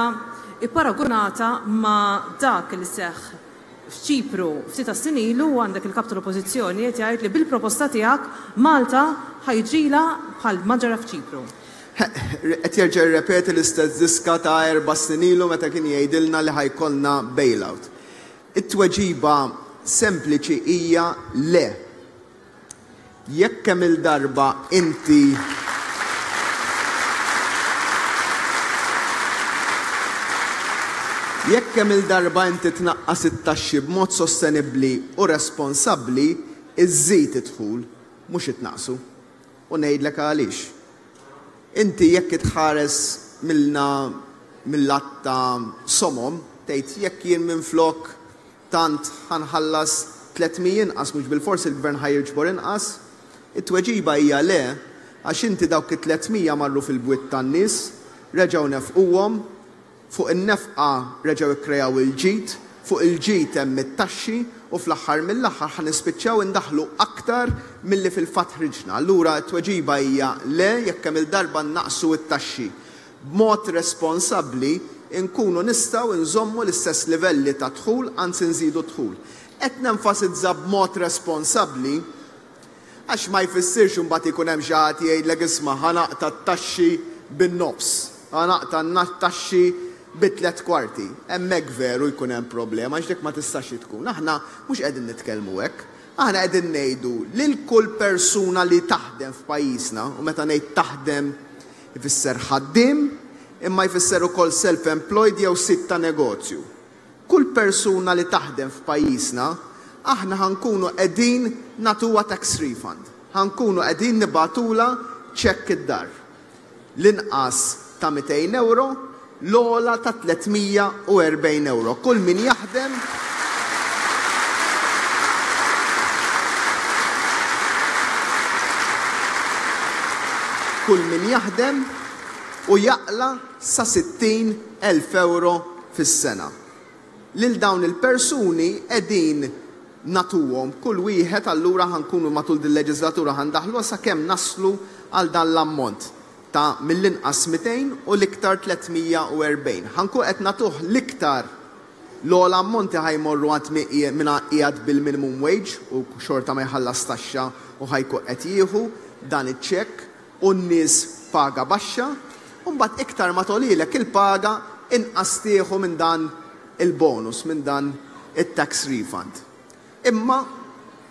ipparagunata ma' dak li seħħ f'Ċipru ftit tas-snin ilu u għandek il-kap tal-Oppożizzjoni qed jgħid li bil-proposta tiegħek Malta ħajġila bħal ma ġara f'Ċipru. Qed jerġa' jirrepeti l-istess diska ta' erba' snin ilu meta kien jgħidilna li ħajkollna bailout. It-tweġiba sempliċi hija le. Jekk kemm il-darba inti Jekk kemm il-darba inti tnaqqas it-taxxi b'mod sostenibbli u responsabbli, iżżid id-dħul, mhux itnaqsu. U ngħidlek għaliex. Inti jekk itħares milna mill-att ta' somom, tgħid jekk jien minflok tant ħanħallas tliet mija inqas, mhux bilfors il-gvern ħajġbor inqas, it-tweġiba hija le, Għax inti dawk it-tliet mija marru fil-bwiet tan-nies, reġgħu nefquhom, fuq in-nefqa reġgħu ikkrejaw il-ġid, fuq il-ġid hemm it-taxxi u fl-aħħar mill-aħħar ħa nispiċċaw indaħlu aktar milli fil-fatt ħriġna. Allura t-tweġiba hija le jekk hemm il-darba naqsu t-taxxi. B'mod responsabbli nkunu nistgħu nżommu l-istess livelli ta' dħul, anzi nżidu dħul. Qed nenfasizza b'mod responsabbli għax ma jfissirx imbagħad ikun hemm xi ħadd jgħidlek isma' ħa naqta' t-taxxi bin-nofs, ħa naqta' t-taxxi bi tliet kwarti. Hemmhekk veru jkun hemm problema għax dik ma tistax tkun. Aħna mhux qegħdin nitkellmu hekk. Aħna qegħdin ngħidu lil kull persuna li taħdem f'pajjiżna, u meta ngħid taħdem ifisser ħaddiem, imma jfisser ukoll self-employed jew sid ta' negozju. Kull persuna li taħdem f'pajjiżna, aħna ħankunu qegħdin nagħtuha tax refund. Ħankunu qegħdin nibatula ċekk id-dar. L-inqas ta' mitejn euro, l-ogħla ta' tliet mija u erbgħin euro. Kull min jaħdem kull min jaħdem u jaqla sa sittin elf euro fis-sena. Lil dawn il-persuni qegħdin natuhom kull wieħed, allura ħankunu matul din il-leġislatura ħandaħlu sakemm naslu għal dan l-ammont ta' mill-inqas mitejn u l-iktar tliet mija u erbgħin. Ħankun qed natuh l-iktar l-ogħla ammonti ħajmorru għand min qiegħed bil-minimum wage u xorta ma jħallas taxxa u ħajkun qed jieħu dan iċ-ċekk, u n-nies paga baxxa, u mbagħad iktar ma tolilek il-paga inqas tieħu minn dan il-bonus, minn dan it-tax refund. Imma,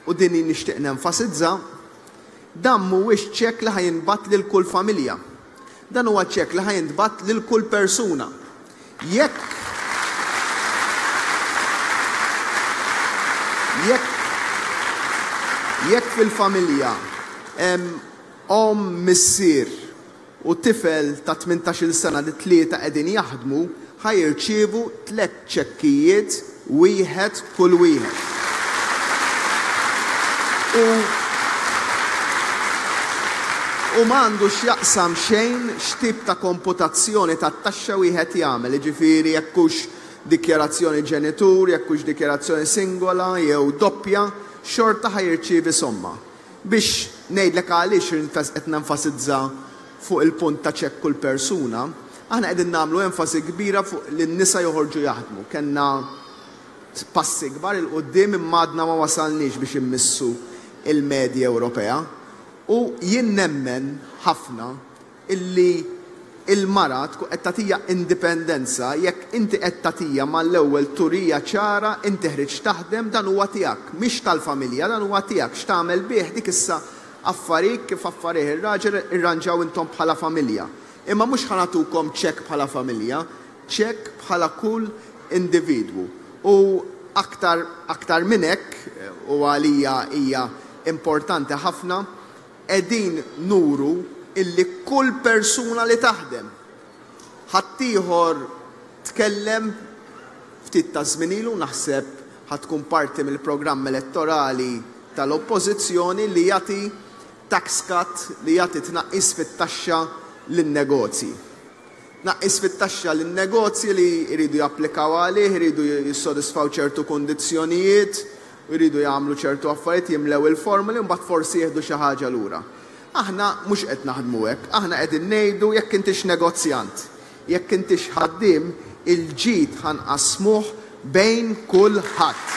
u din nixtieq nenfasizza, dan mhuwiex ċekk li ħajinbat lil kull familja. Dan huwa ċekk li ħajinbat lil kull persuna. Jekk jekk jekk fil-familja hemm omm, missier u tifel ta' tmintax-il sena li tlieta qegħdin jaħdmu, ħajirċievu tliet ċekkijiet wieħed kull wieħed. U, u m'għandu x'jaqsam xejn x'tip ta' komputazzjoni tat-taxxa wieħed jagħmel, jiġifieri jekk hux dikjarazzjoni ġenitur, jekk hux dikjarazzjoni singola jew doppja, xorta ħajirċievi somma. Biex ngħidlek għaliex qed nenfasizza fuq il-punt ta' ċekk kull persuna, aħna qegħdin nagħmlu enfasi kbira fuq li n-nisa joħorġu jaħdmu. Kellna passi kbar il quddiem imma għadna ma wasalniex biex immissu il-medja Ewropea. U jien nemmen ħafna illi il-mara tkun qed tagħtija indipendenza jekk inti qed tagħtija mal-ewwel turija ċara inti ħriġ taħdem, dan huwa tiegħek, mhix tal-familja, dan huwa tiegħek, x'tagħmel bih dik issa affarik kif affarih ir-raġel irranġaw intom bħala familja. Imma mhux ħa nagħtukom ċekk bħala familja, ċekk bħala kull individwu. U aktar, aktar minn hekk, u għalija hija importanti ħafna, qegħdin nuru illi kull persuna li taħdem. Ħaddieħor tkellem ftit ta' żmien ilu, naħseb ħatkun parti mill-programm elettorali tal-oppożizzjoni li jagħti tax cut, li jagħti tnaqqis fit-taxxa lin-negozji. Tnaqqis fit-taxxa lin-negozji li jridu japplikaw għalih, jridu jissodisfaw ċertu kundizzjonijiet, jridu jagħmlu ċertu affarijiet, jimlew il-formuli, mbagħad forsi jieħdu xi ħaġa lura. Aħna mhux qed naħdmu hekk, aħna qegħdin ngħidu jekk intix negozjant, jekk intix ħaddiem, il-ġid ħanqasmuh bejn kulħadd.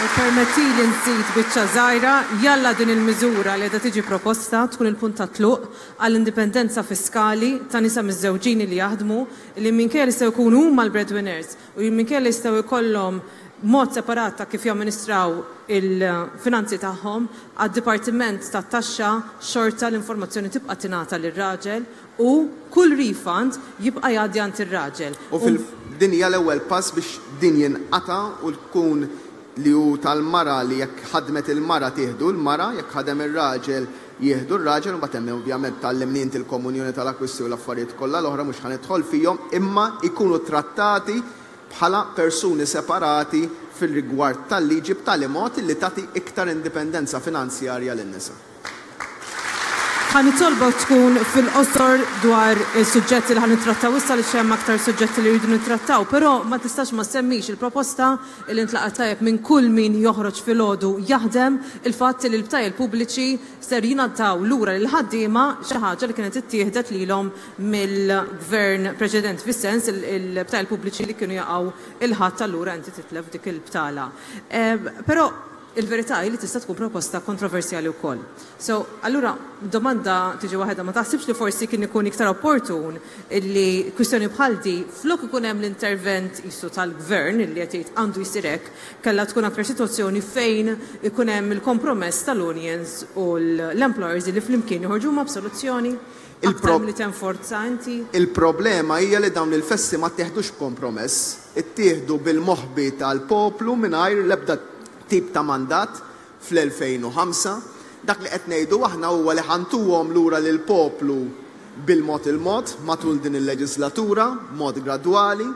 U permetti li nżid biċċa żgħira, jalla din il-miżura li qiegħda tiġi proposta tkun il-punt ta' tluq għall-indipendenza fiskali ta' nisa miżżewġin li jaħdmu, li minkejja li jistgħu jkunu huma l-breadwinners u minkejja li jistgħu jkollhom mod separat ta' kif jamministraw il-finanzi tagħhom, għad-Dipartiment tat-Taxxa xorta l-informazzjoni tibqa' tingħata lir-raġel u kull refund jibqa' jgħaddi għand ir-raġel. U fil-din hija l-ewwel pass biex din jinqata' u tkun li hu tal-mara li jekk ħadmet il-mara tieħdu l-mara, jekk ħadem ir-raġel jieħdu r-raġel, u mbagħad hemm ovvjament tgħallimni inti l-komunjoni tal-akkwisti u l-affarijiet kollha l-oħra mhux ħanidħol fihom, imma jkunu trattati bħala persuni separati fil-rigward tal-liġi b'tali mod li tagħti iktar indipendenza finanzjarja lin-nisa. Ħa nitolbok tkun fil-qosor dwar is-suġġetti li ħa nittrattaw issa li hemm aktar suġġetti li rridu nittrattaw, però ma tistax ma semmix il-proposta li ntlaqat tajjeb minn kull min joħroġ filgħodu jaħdem, il-fatt li l-btajjel pubbliċi ser jingħataw lura lil ħaddiema, xi ħaġa li kienet ittieħdet lilhom mill-gvern preċedent, fis-sens il-btajjel pubbliċi li kienu jaqgħu il-ħadd, allura inti titlef dik il-btala. Però il-verità hi li tista' tkun proposta kontroversjali wkoll. So, allura domanda tiġi waħedha, ma taħsibx li forsi kien ikun iktar opportun illi kwistjoni bħal di flok ikun hemm l-intervent isu tal-gvern illi qed jgħid għandu jsir hekk, kellha tkun aktar sitwazzjoni fejn ikun hemm il-kompromess tal-unions u l-employers li flimkien joħorġu ma' b'soluzzjoni aktar milli tenforza inti? Il-problema hija li dawn il-festi ma ttieħdux b'kompromess, ittieħdu bil-moħbi tal-poplu mingħajr l-ebda tip ta' mandat fl-elfejn u ħamsa. Dak li qed ngħidu aħna huwa li ħantuhom lura lil poplu bil-mod il-mod matul din il-leġislatura, mod gradwali.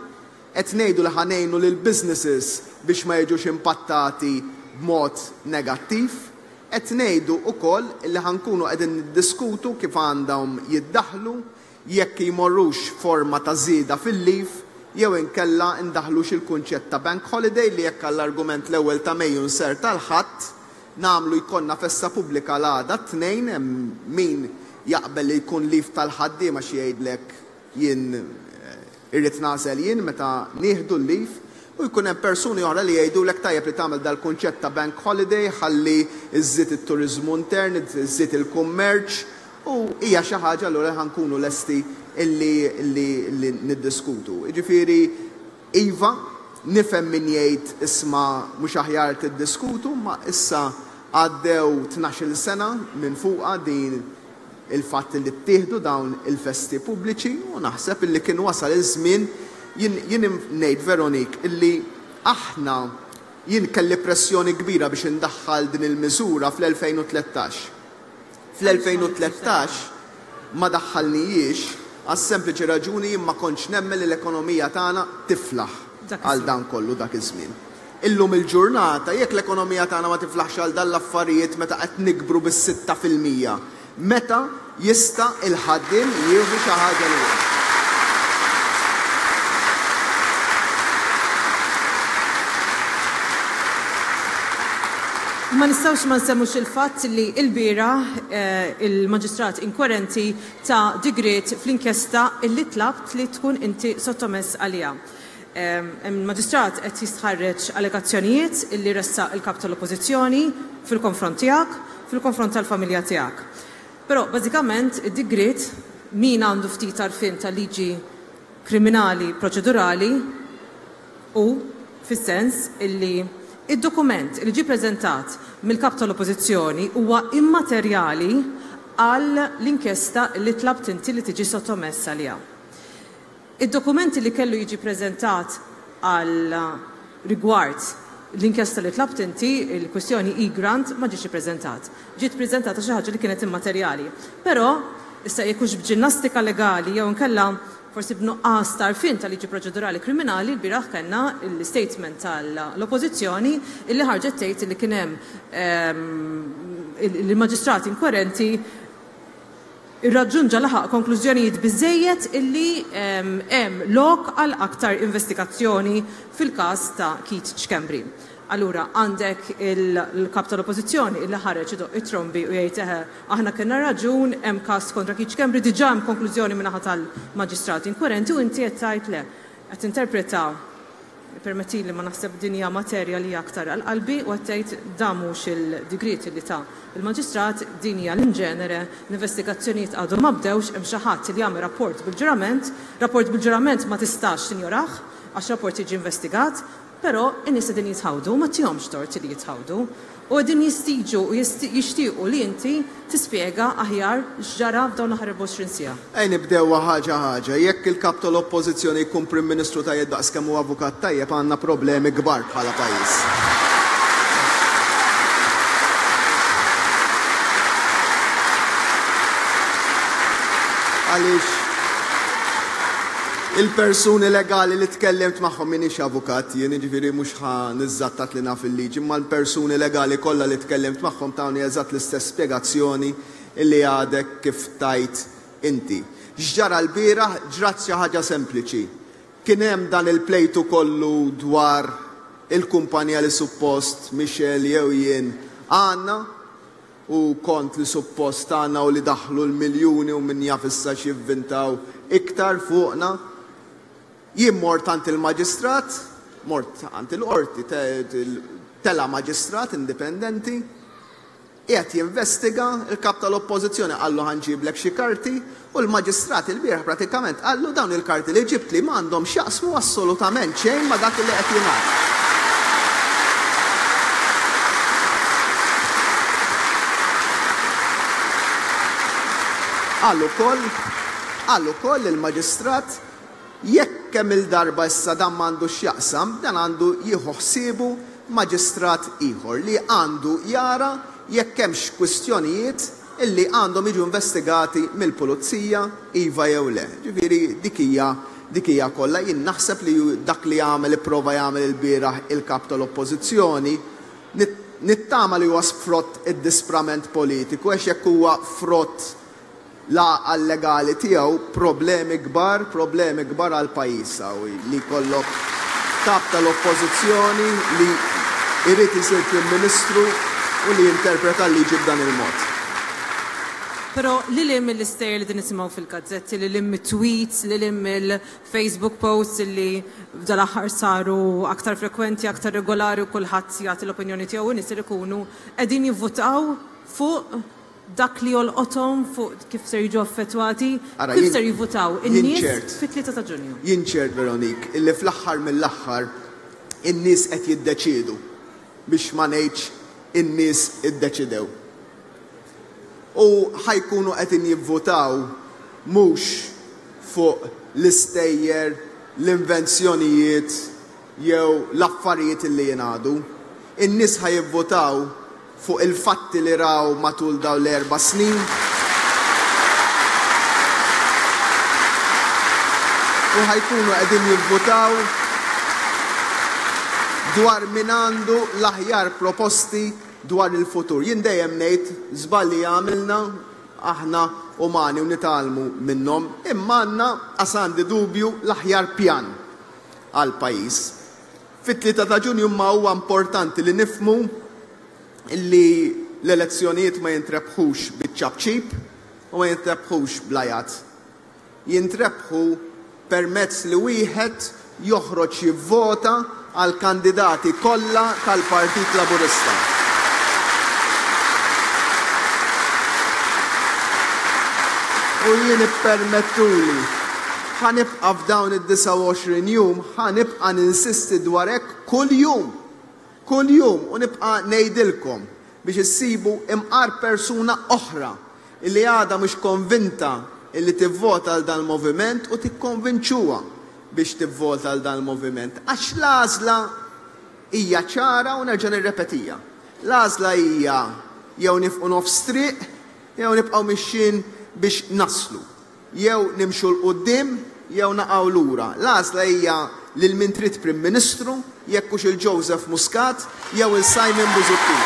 Qed ngħidu li ħanejnu lil businesses biex ma jiġux impattati b'mod negattiv. Qed ngħidu wkoll li ħankunu qegħdin niddiskutu kif għandhom jiddaħlu, jekk jmorrux forma ta' żieda fil-lif, jew inkella ndaħlux il-kunċett ta' bank holiday li jekk għall-argument l-ewwel ta' Mejju nser tal-Ħadd nagħmlu jkollna festa pubblika l-għada t-Tnejn, hemm min jaqbel li jkun lif tal-ħaddiema xi jgħidlek jien, eh, irrid nagħżel jien meta nieħdu l-lif, u jkun hemm persuni oħra li jgħidulek tajjeb li tagħmel dal-kunċett ta' bank holiday ħalli iżżid it-turiżmu intern, iżżid il-kummerċ, u hija xi ħaġa allura ħankunu lesti illi, illi, illi niddiskutu. Jiġifieri, iva, nifhem min jgħid isma' mhux aħjar tiddiskutu, ma issa għaddew tnax-il sena minn fuqha din il-fatt li ttieħdu dawn il-festi pubbliċi, u naħseb illi kien wasal iż-żmien. Jien, jien ngħid, Veronique, illi aħna jien kelli pressjoni kbira biex indaħħal din il-miżura fl-elfejn u tlettax. Fl-elfejn u tlettax ma daħħalnijiex għas-sempliċi raġuni jien ma kontx nemmen li l-ekonomija tagħna tiflaħ Dak għal iż-żmien. dan kollu dak iż-żmien. Illum il-ġurnata, jekk l-ekonomija tagħna ma tiflaħx għal dan l-affarijiet meta qed nikbru bis-sitta fil-mija, meta jista' il-ħaddiem jieħu xi ħaġa lura. Ma nistgħux ma nsemmux il-fatt li l-bieraħ, eh, il-maġistrat inkwerenti ta' digriet fl-inkjesta illi tlabt li tkun inti sottomess għaliha. Ehm, il-maġistrat qed jistħarreġ allegazzjonijiet illi ressaq il-kap tal-Oppożizzjoni fil-konfront tiegħek, fil-konfront tal-familja tiegħek. Però bażikament id-digriet min għandu ftit għarfien tal-liġi kriminali proċedurali u fis-sens illi id-dokument li ġie preżentat mill-kap tal-Oppożizzjoni huwa immaterjali għal l-inkjesta li tlabt inti li tiġi sottomessa għaliha. Id-dokumenti li kellu jiġi preżentat għal rigward l-inkjesta li tlabt inti, il-kwestjoni e-grant, ma ġiex ippreżentat. Ġiet preżentata xi ħaġa li kienet immaterjali. Però, issa jekk hux b'ġinnastika legali jew inkella forsi b'nuqqas ta' għarfien tal-liġi proċedurali kriminali, l-bieraħ kellna l-statement tal-Oppożizzjoni illi ħarġet tgħid li kien hemm, ehm, il-maġistrat inkwerenti irraġġunġa laħaq konklużjonijiet biżejjed illi, ehm, hemm lok għal aktar investigazzjoni fil-każ ta' Keith Schembri. Allura għandek il-kap tal-Oppożizzjoni illi ħareġ idoq it-trombi u jgħid eħe aħna kellna raġun, hemm każ kontra Keith Schembri, diġà hemm konklużjoni min-naħa tal-maġistrat inkwerenti u inti qed tgħid le. Qed tinterpreta, permettili ma naħseb din hija materja li hija aktar għal qalbi, u qed tgħid dan mhux il-digriet li ta' il-maġistrat, din hija l-inġenere, l-investigazzjonijiet għadhom ma bdewx, hemm xi ħadd li jagħmel rapport bil-ġurament, rapport bil-ġurament ma tistax tinjorah għax rapport jiġi investigat, però in-nies qegħdin jitħawdu, ma tihomx tort li jitħawdu, u qegħdin jistiġu u jisti-, jixtiequ li inti tispjega aħjar x'ġara f'dawn l-aħħar erbgħa u għoxrin siegħa. Ej nibdew ħaġa ħaġa, jekk il-kap tal-Oppożizzjoni jkun Prim Ministru tajjeb daqs kemm hu avukat tajjeb, għandna problemi kbar bħala pajjiż. Għaliex Il-persuni legali li tkellimt magħhom, m'iniex avukat, jien jiġifieri mhux ħa niżżattat li naf il-liġi, imma l-persuni legali kollha li tkellimt magħhom tawni eżatt l-istess spjegazzjoni illi għadek kif tajt inti. X'ġara l-bieraħ? Ġrat xi ħaġa sempliċi. Kien hemm dan il-plejtu kollu dwar il-kumpanija li suppost Michelle jew jien għandna, u kont li suppost għandna u li daħlu l-miljuni u min jaf issa x'jivvintaw iktar fuqna. Jien mort għand il-maġistrat, mort għand il-qorti, tela maġistrat indipendenti, qiegħed jinvestiga il-kap tal-oppożizzjoni, qallu ħanġiblek xi karti, u l-maġistrat il-bieraħ pratikament qallu dawn il-karti li ġibt li m'għandhom x'jaqsmu assolutament xejn ma' dak li qed jingħad. Qal ukoll, qal ukoll il-maġistrat jekk kemm il-darba issa dan m'għandu x'jaqsam, dan għandu jieħu ħsiebu maġistrat ieħor li għandu jara jekk hemmx kwistjonijiet illi għandhom jiġu investigati mill-pulizija iva jew le. Ġifieri dik hija, dik hija kollha. Jien naħseb li dak li għamel ipprova jagħmel il-bieraħ il-kap tal-oppożizzjoni, nittama li huwa frott id-disprament politiku, għax jekk huwa frott l-għaqal legali tiegħu, problemi kbar, problemi kbar għal pajjiż hawn li jkollok kap tal-oppożizzjoni li jrid isir Prim Ministru u li jinterpreta l-liġi b'dan il-mod. Però li li mill-istejjer li din nisimgħu fil-gazzetti, li li mit-tweets, li li mill-Facebook posts li f'dal-aħħar saru aktar frekwenti, aktar regolari u kulħadd jagħti l-opinjoni tiegħu, nies li jkunu qegħdin jivvutaw fuq dak li jolqothom, fuq kif ser jiġu affettwati, Ara, kif jien ser jivvutaw jien in-nies ċert. fit-tlieta ta' Ġunju. Jien ċert, Veronique, illi fl-aħħar mill-aħħar in-nies qed jiddeċiedu, biex ma ngħidx in-nies iddeċidew. U ħajkunu qed jivvutaw mhux fuq l-istejjer, l-invenzjonijiet jew l-affarijiet illi jingħadu. In-nies ħajivvutaw fuq il-fatti li raw matul dawn l-erba' snin. U ħajkunu qegħdin jivvutaw dwar min għandu l-aħjar proposti dwar il-futur. Jien dejjem ngħid żballi għamilna aħna umani u nitgħallmu minnhom, imma għandna qas għandi dubju l-aħjar pjan għal pajjiż. Fit-tlieta ta' Ġunju ma huwa importanti li nifhmu li l-elezzjonijiet ma jintrebħux biċ-ċapċip u ma jintrebħux bl-ajat. Jintrebħu permezz li wieħed joħroġ jivvota għal kandidati kollha tal-Partit Laburista. U jien ippermettuli, ħanibqa' f'dawn id-disgħa u għoxrin jum, ħanibqa' ninsisti dwar hekk kull jum, kull jum, u nibqa' ngħidilkom biex issibu imqar persuna oħra illi għadha mhux konvinta illi tivvota għal dan il-moviment u tikkonvinċuha biex tivvota għal dan il-moviment. Għax l-għażla hija ċara u nerġa' nirrepetija. L-għażla hija jew nifqu nofs triq jew nibqgħu mixjin biex naslu. Jew nimxu 'l quddiem jew naqgħu lura. L-għażla hija lil min trid Prim Ministru, jekk hux il-Joseph Muscat jew il-Simon Busuttil.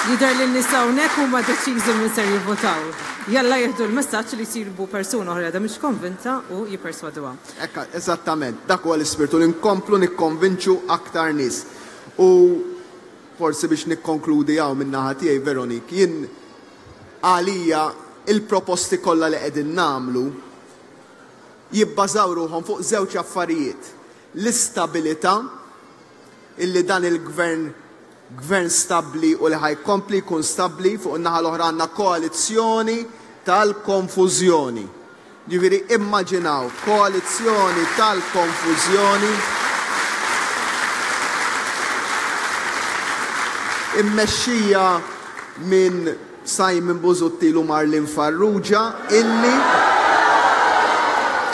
Jidher li n-nies hawnhekk huma deċiżi minn ser jivvotaw. Jalla jieħdu l-messaġġ li jsiru persuna oħra għadha mhix konvinta u jipperswaduha. Ekka, eżattament, dak huwa l-ispirtu li nkomplu nikkonvinċu aktar nies. U forsi biex nikkonkludi hawn min-naħa tiegħi, Veronique, jien għalija il-proposti kollha li qegħdin nagħmlu jibbażaw ruħhom fuq żewġ affarijiet. L-istabilità illi dan il-gvern gvern stabbli u li ħajkompli jkun stabbli, fuq in-naħa l-oħra għandna koalizzjoni tal-konfużjoni. Ġifieri immaġinaw koalizzjoni tal-konfużjoni immexxija minn Simon Busuttil u Marlene Farrugia illi,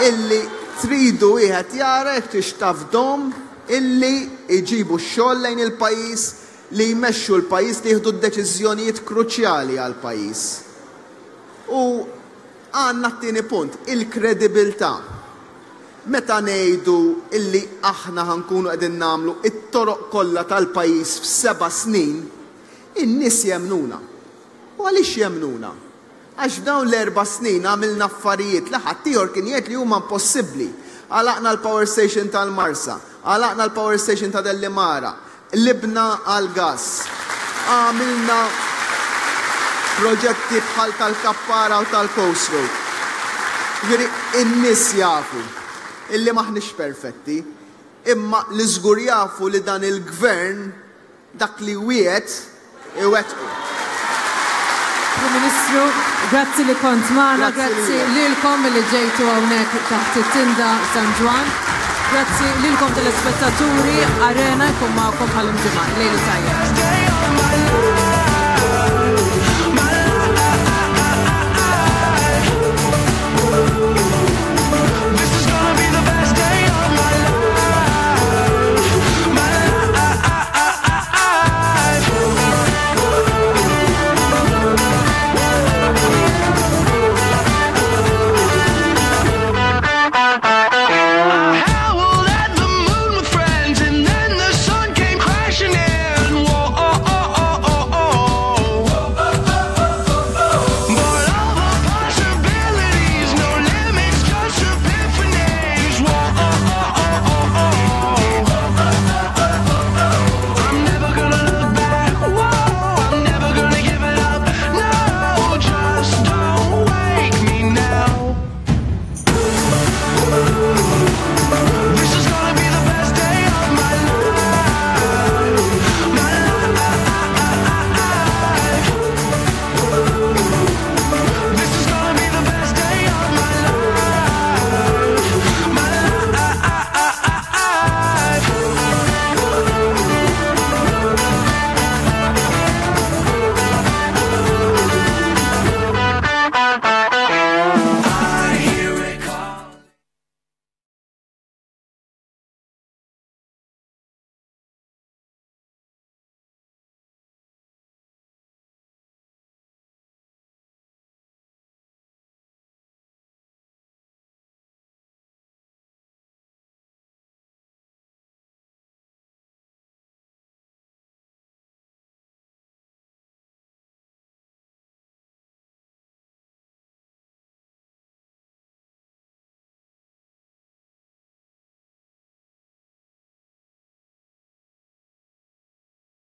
illi Tridu wieħed jara jekk tix tafdahom illi jġibu x-xogħol lejn il-pajjiż, li jmexxu l-pajjiż, li jieħdu d-deċiżjonijiet kruċjali għall-pajjiż. U għandna t-tieni punt, il-kredibilità. Meta ngħidu illi aħna ħa nkunu qegħdin nagħmlu it-toroq kollha tal-pajjiż f'seba' snin, in-nies jemnuna. U għaliex jemnuna? Għax f'dawn l-erba' snin għamilna affarijiet li ħaddieħor kien jgħid li huma impossibbli. Għalaqna l-power station tal-Marsa, għalaqna l-power station ta' Delimara, qlibna għal-gas, għamilna proġetti bħal tal-Kappara u tal-Coast Road. Ġifieri, in-nies jafu illi m'aħniex perfetti, imma li żgur jafu li dan il-gvern dak li wiegħed iwettqu. Prim Ministru, grazzi li kont magħna, Grazzi grazzi lilek. lilkom li ġejtu hawnhekk taħt it-tinda San Ġwann. Grazzi lilkom telespettaturi, Arena jkun magħkom bħal ġimgħa. Lejl tajjeb.